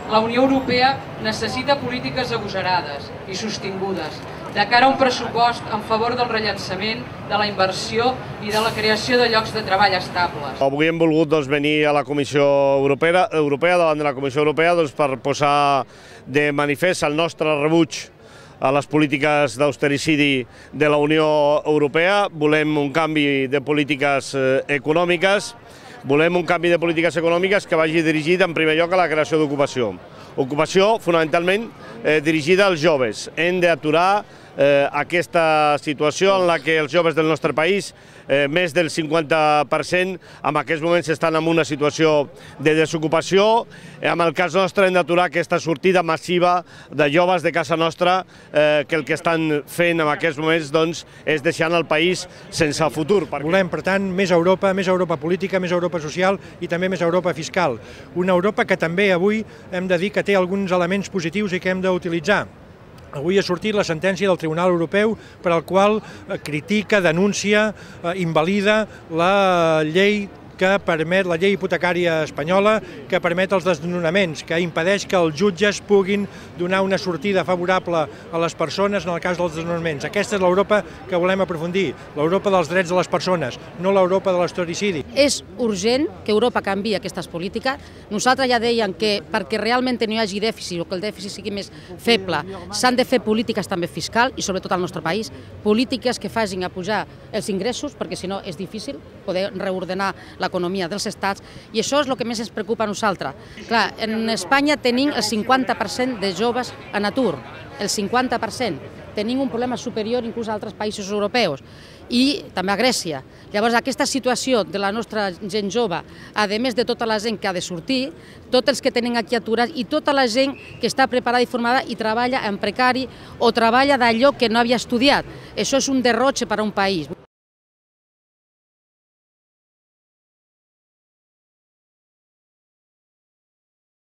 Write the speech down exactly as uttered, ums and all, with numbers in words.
La Unió Europea necessita polítiques agosarades i sostingudes de cara a un pressupost en favor del rellançament, de la inversió i de la creació de llocs de treball estables. Avui hem volgut doncs, venir a la Comissió Europea, Europea davant de la Comissió Europea doncs, per posar de manifest el nostre rebuig a les polítiques d'austericidi de la Unió Europea. Volem un canvi de polítiques econòmiques, volem un canvi de polítiques econòmiques que vagi dirigit en primer lloc a la creació d'ocupació. Ocupació fonamentalment eh, dirigida als joves. Hem d'aturar eh, aquesta situació en la que els joves del nostre país, eh, més del cinquanta per cent, en aquests moments estan en una situació de desocupació. En el cas nostre hem d'aturar aquesta sortida massiva de joves de casa nostra eh, que el que estan fent en aquests moments doncs, és deixant el país sense futur. Volem, per tant, més Europa, més Europa política, més Europa social i també més Europa fiscal. Una Europa que també avui hem de dir que té alguns elements positius i que hem d'utilitzar. Avui ha sortit la sentència del Tribunal Europeu per al qual critica, denuncia, invalida la llei que permet, la llei hipotecària espanyola, que permet els desnonaments, que impedeix que els jutges puguin donar una sortida favorable a les persones en el cas dels desnonaments. Aquesta és l'Europa que volem aprofundir, l'Europa dels drets de les persones, no l'Europa de l'historicidi. És urgent que Europa canviï aquestes polítiques. Nosaltres ja dèiem que perquè realment no hi hagi dèficit o que el dèficit sigui més feble, s'han de fer polítiques també fiscals i sobretot al nostre país, polítiques que facin a pujar els ingressos, perquè si no és difícil poder reordenar l'economia dels estats, i això és el que més ens preocupa a nosaltres. Clar, en Espanya tenim el cinquanta per cent de joves en atur, el cinquanta per cent. Tenim un problema superior inclús a altres països europeus i també a Grècia. Llavors, aquesta situació de la nostra gent jove, a més de tota la gent que ha de sortir, tots els que tenen aquí aturats i tota la gent que està preparada i formada i treballa en precari o treballa d'allò que no havia estudiat. Això és un derroche per a un país.